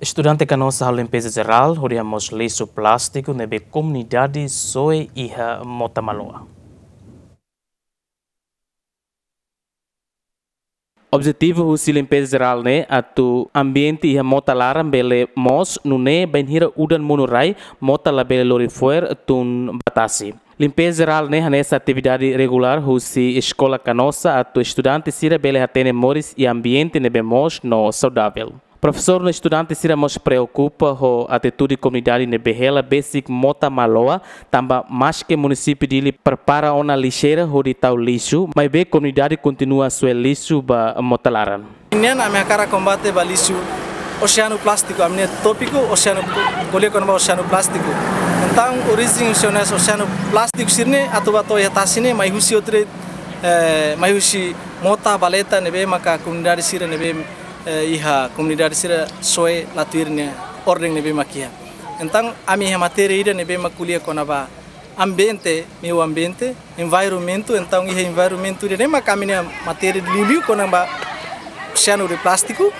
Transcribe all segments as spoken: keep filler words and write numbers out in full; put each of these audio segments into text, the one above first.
Estudante Canossa halo limpeza jerál hodi hamoos lixu plástiku ne'ebé komunidade soe iha Mota Maloa. Objetivu husi limpeza jerál ne'e atu ambiente iha mota laran bele moos, nune'e bainhira udan monu rai, mota labele lori fo'er tun ba tasi. Limpeza jerál ne'e hanesan atividade regulár husi Eskola Canossa atu estudante sira bele hatene moris iha ambiente ne'ebé moos no saudavel. Profesór no estudante sira mós preokupa ho atitude komunidade ne'ebé hela besik Mota Maloa, tanba maske munisípiu Dili prepara ona lixeira hodi tau lixu, maibé komunidade kontinua soe lixu ba mota laran. Nian ami hakarak kombate ba lixu oseanu plástiku, ami-nia tópiku oseanu, ko'alia kona-ba oseanu plástiku. Entaun, orijen oseanu, oseanu plástiku sira-ne'e atu ba to'o iha tasi ne'e mai husi outro, eh, mai husi mota, valeta ne'ebé maka komunidade sira ne'ebé, eh, iha komunidade sira soe la tuir nia orden ne'ebé mak iha. Entaun, ami iha matéria ida ne'ebé mak ko'alia kona-ba ambiente, meiu ambiente, environmentu, entaun iha environmentu ida-ne'e maka ami-nia matéria liuliu kona-ba oseanu de plástiku,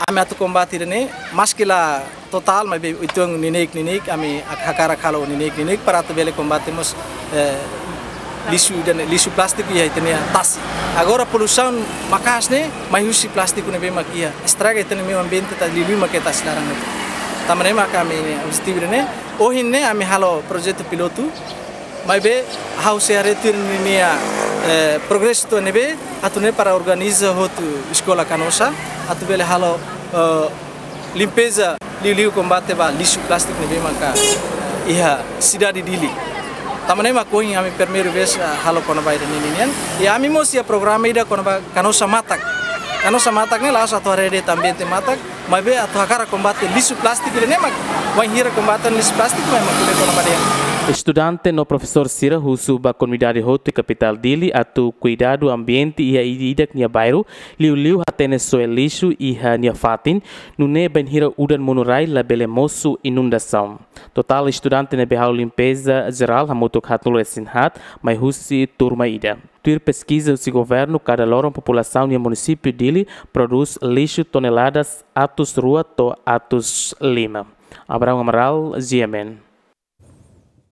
ami atu kombate ida-ne'e, maske la totál, maibé uitoan neineik-neineik, ami hak-, hakarak halo neineik-neineik, para atu bele kombate mós, eh, lixu ida-ne'e, lixu plástiku iha ita-nia tasi. Agora poluisaun maka'as ne'e, mai husi plástiku ne'ebé mak iha, estraga ita-nia meiu ambiente, ta liuliu mak iha tasi laran ne'e. Tanba ne'e maka ami-nia objetivu ida-ne'e, ohin ne'e ami halo projetu pilotu, maibé ha'u sei haree tuir ninia, eh, progresu to'o ne'ebé, atu nune'e para organiza hotu Eskola Canossa, atu bele halo, eh, limpeza liuliu kombate ba lixu plástiku ne'ebé maka iha sidade Dili. Tanba ne'e mak ohin ami primeira vez, ah, halo kona-ba ida-ne'e nian. I ami mós iha programa ida kona-ba Canossa Matak. Canossa Matak ne'e la'ós atu haree de'it ambiente matak, maibé atu hakarak kombate lixu plástiku ida-ne'e mak, bainhira kombate lixu plástiku mai mak ko'alia kona-ba dehan. Estudante no profesór sira husu ba komunidade hotu iha kapitál Dili atu kuidadu ambiente iha ida-idak nia bairru, liuliu hatene soe lixu iha nia fatin, nune'e bainhira udan monu rai labele mosu inundasaun. Totál estudante ne'ebé halo limpeza jerál hamutuk haatnulu-resin-haat, mai husi turma ida. Tuir peskiza husi governu, kada loron populasaun iha munisípiu Dili prodús lixu toneladas atus rua to'o atus lima. Abraão Amaral, G M N.